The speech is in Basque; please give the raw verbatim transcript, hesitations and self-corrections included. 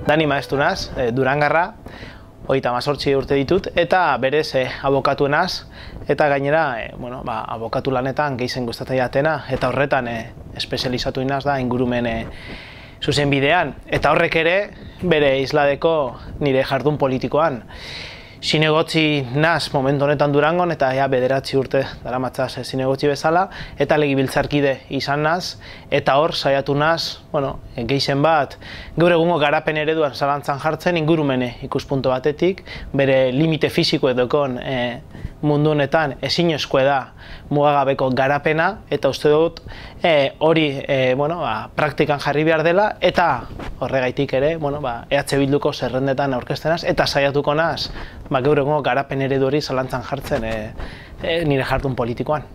Dani Maestu naz, Durangarra, hogeita hemezortzi urte ditut, eta berez eh, abokatu naz, eta gainera, eh, bueno, ba, abokatu lanetan gehizen gustatzen jatena, eta horretan eh, espezializatu inaz da ingurumen eh, zuzen bidean, eta horrek ere bere isladeko nire jardun politikoan. Zinegotzi naz momentu honetan Durangon, eta ja bederatzi urte daramatzaz zinegotzi bezala, eta legebiltzarkide izan naz, eta hor saiatu naz, bueno, gehizen bat, gaur egungo garapen ereduan zalantzan jartzen ingurumene ikuspuntu batetik, bere limite fisiko edokon e, mundu honetan ezinezkoa da mugagabeko garapena, eta uste dut e, hori e, bueno, ba, praktikan jarri behar dela, eta horregaitik ere, bueno, ba, E H Bilduko zerrendetan aurkeztenaz, eta saiatuko naz, ba, gaur egungo garapen eredu hori zalantzan jartzen e, e, nire jardun politikoan.